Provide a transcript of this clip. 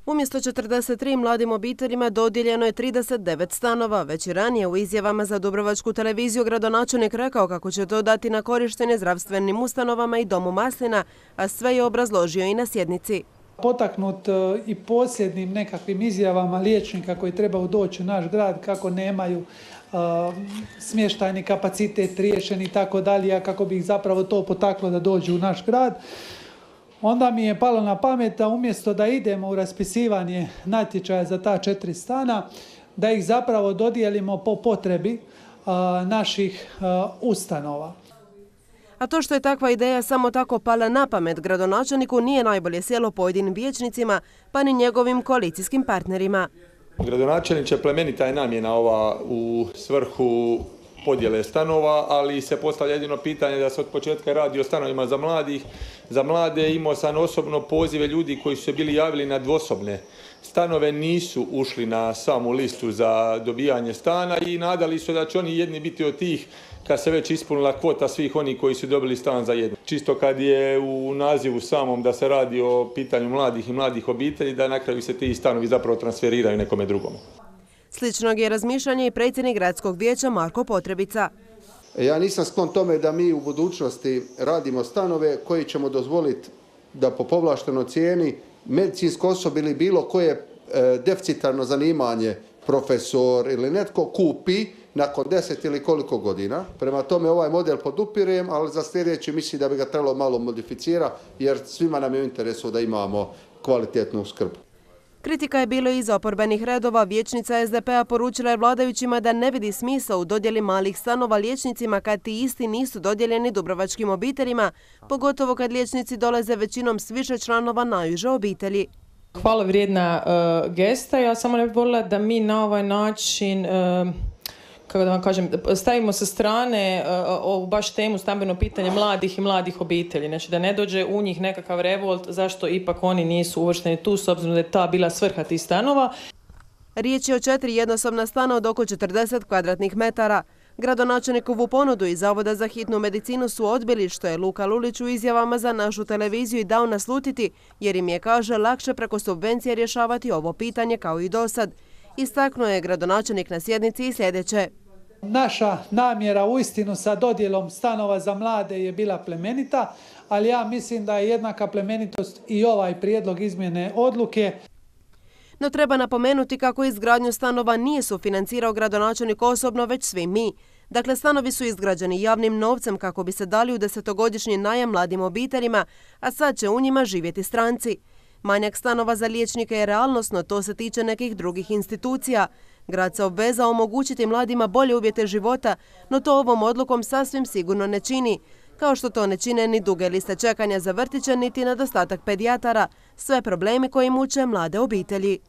Umjesto 43 mladim obiteljima dodijeljeno je 39 stanova. Već i ranije u izjavama za Dubrovačku televiziju gradonačelnik rekao kako će to dati na korištenje zdravstvenim ustanovama i domu Maslina, a sve je obrazložio i na sjednici. Potaknut i posljednim nekakvim izjavama liječnika koji trebaju doći u naš grad kako nemaju smještajni kapacitet riješen i tako dalje, a kako bi ih zapravo to potaklo da dođu u naš grad. Onda mi je palo na pamet da umjesto da idemo u raspisivanje natječaja za ta 4 stana, da ih zapravo dodijelimo po potrebi naših ustanova. A to što je takva ideja samo tako pala na pamet gradonačelniku nije najbolje sjelo pojedinim vijećnicima, pa ni njegovim koalicijskim partnerima. Gradonačelniče, plemenita je namjena ova u svrhu podjele stanova, ali se postavlja jedino pitanje da se od početka radi o stanovima za mlade. Imao sam osobno pozive ljudi koji su se bili javili na dvosobne stanove, nisu ušli na samu listu za dobijanje stana i nadali su da će oni jedni biti od tih kad se već ispunila kvota svih oni koji su dobili stan za jedno. Čisto kad je u nazivu samom da se radi o pitanju mladih i mladih obitelji, da na kraju se ti stanovi zapravo transferiraju nekome drugome. Sličnog je razmišljanje i predsjednik gradskog vijeća Marko Potrebica. Ja nisam sklon tome da mi u budućnosti radimo stanove koji ćemo dozvoliti da po povlaštenoj cijeni medicinsko osoblje ili bilo koje deficitarno zanimanje, profesor ili netko, kupi nakon 10 ili koliko godina. Prema tome ovaj model podupirem, ali za sljedeći mislim da bi ga trebalo malo modificirati jer svima nam je u interesu da imamo kvalitetnu skrb. Kritika je bilo iz oporbenih redova. Vijećnica SDP-a poručila je vladajućima da ne vidi smisao u dodjeli malih stanova liječnicima kad ti isti nisu dodijeljeni dubrovačkim obiteljima, pogotovo kad liječnici dolaze većinom s više članova najuže obitelji. Hvala vrijedna gesta. Ja samo ne bih voljela da mi na ovaj način kako da vam kažem, stavimo sa strane ovu baš temu stambeno pitanje mladih i mladih obitelji. Znači da ne dođe u njih nekakav revolt zašto ipak oni nisu uvršteni tu s obzirom da je ta bila svrha tih stanova. Riječ je o 4 jednosobna stana od oko 40 kvadratnih metara. Gradonačelnikovu ponudu iz Zavoda za hitnu medicinu su odbili, što je Luka Lulić u izjavama za našu televiziju i dao naslutiti, jer im je, kaže, lakše preko subvencije rješavati ovo pitanje kao i dosad. Istaknuo je gradonačelnik na sjednici i sljedeće. Naša namjera uistinu sa dodjelom stanova za mlade je bila plemenita, ali ja mislim da je jednaka plemenitost i ovaj prijedlog izmjene odluke. No treba napomenuti kako izgradnju stanova nije sufinancirao gradonačelnik osobno, već svi mi. Dakle, stanovi su izgrađeni javnim novcem kako bi se dali u 10-godišnji najam mladim obiteljima, a sad će u njima živjeti stranci. Manjak stanova za liječnike je realnost, no to se tiče nekih drugih institucija. Grad se obvezao omogućiti mladima bolje uvjete života, no to ovom odlukom sasvim sigurno ne čini. Kao što to ne čine ni duge liste čekanja za vrtiće, niti nedostatak pedijatara. Sve problemi koji muče mlade obitelji.